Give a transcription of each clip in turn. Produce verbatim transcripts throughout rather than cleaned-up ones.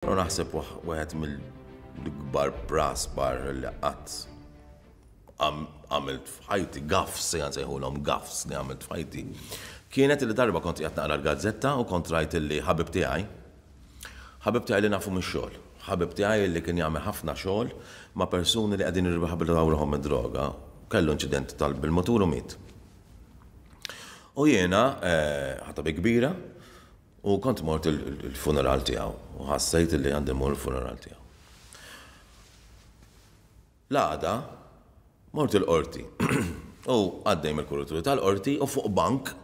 U naħseb wieħed mill-kbar praspar li qatt għamilt f'ħajti, gaffes, ejja nsejħulhom gaffes li għamilt f'ħajti. Kienet li darba kont qiegħed naqra l-gazzetta u kont rajt li ħabib tiegħi, ħabib tiegħi li nafu mix-xogħol, ħabib tiegħi li kien jagħmel ħafna xogħol ma' persuni li qegħdin jirriabilitaw ruħhom mid-droga, kellu inċident tal bil-motur u miet. U jiena ħadtha bi kbira u kont mort il-funeral tiegħu u ħassejt li għandi mur il-funeral tiegħu. L-għada mort il-qorti u għaddej mill-kurituri tal-qorti u fuq bank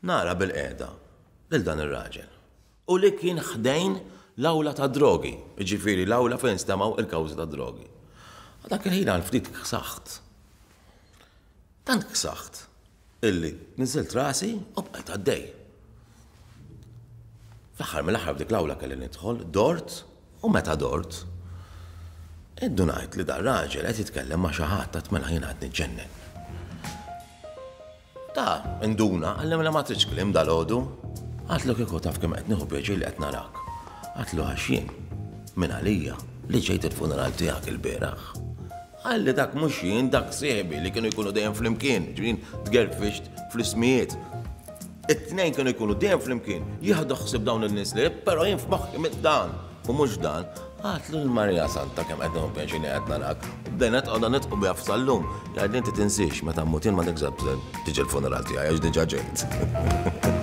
nara bilqiegħda lil dan ir-raġel. U li kien ħdejn l-awla ta' drogi, ġifieri l-awla fejn stemaw il-kawżi ta' drogi. Dak il-ħin għal ftit ksaħt. Tant ksaħt illi niżilt rasi u bqajt għaddej. Fl-aħħar mill-aħħar f'dik l-awla kelli nidħol, dort u meta dort, indunajt li dar raġel qed jitkellem ma' xi ħadd, għedt mela jien qed niġġennen. Ta' induna, qalli mela ma tridx kliem dalgħodu. Għedtlu kieku taf kemm qed nieħu pjaċir li qed narak. Għedtlu għax jien minn għalija li ġejt il-funeral tiegħek il-bieraħ. Qalli dak mhux jien, dak sieħbi li kienu jkunu dejjem flimkien, ġifieri tgerfixt fl-ismijiet. It-tnejn kienu jkunu dejjem flimkien, jieħdu ħsieb dawn in-nies li, però jien f'moħħi mit dan u mhux dan. Għedtlu l-Marija Santa kemm qed nieħu pjaċir li qed narak. Bdejna qogħda nidħku biha f'sal-lum. Jgħidli inti tinsiex meta mmut jien ma tiġi l-funeral tiegħi għax diġà ġejt.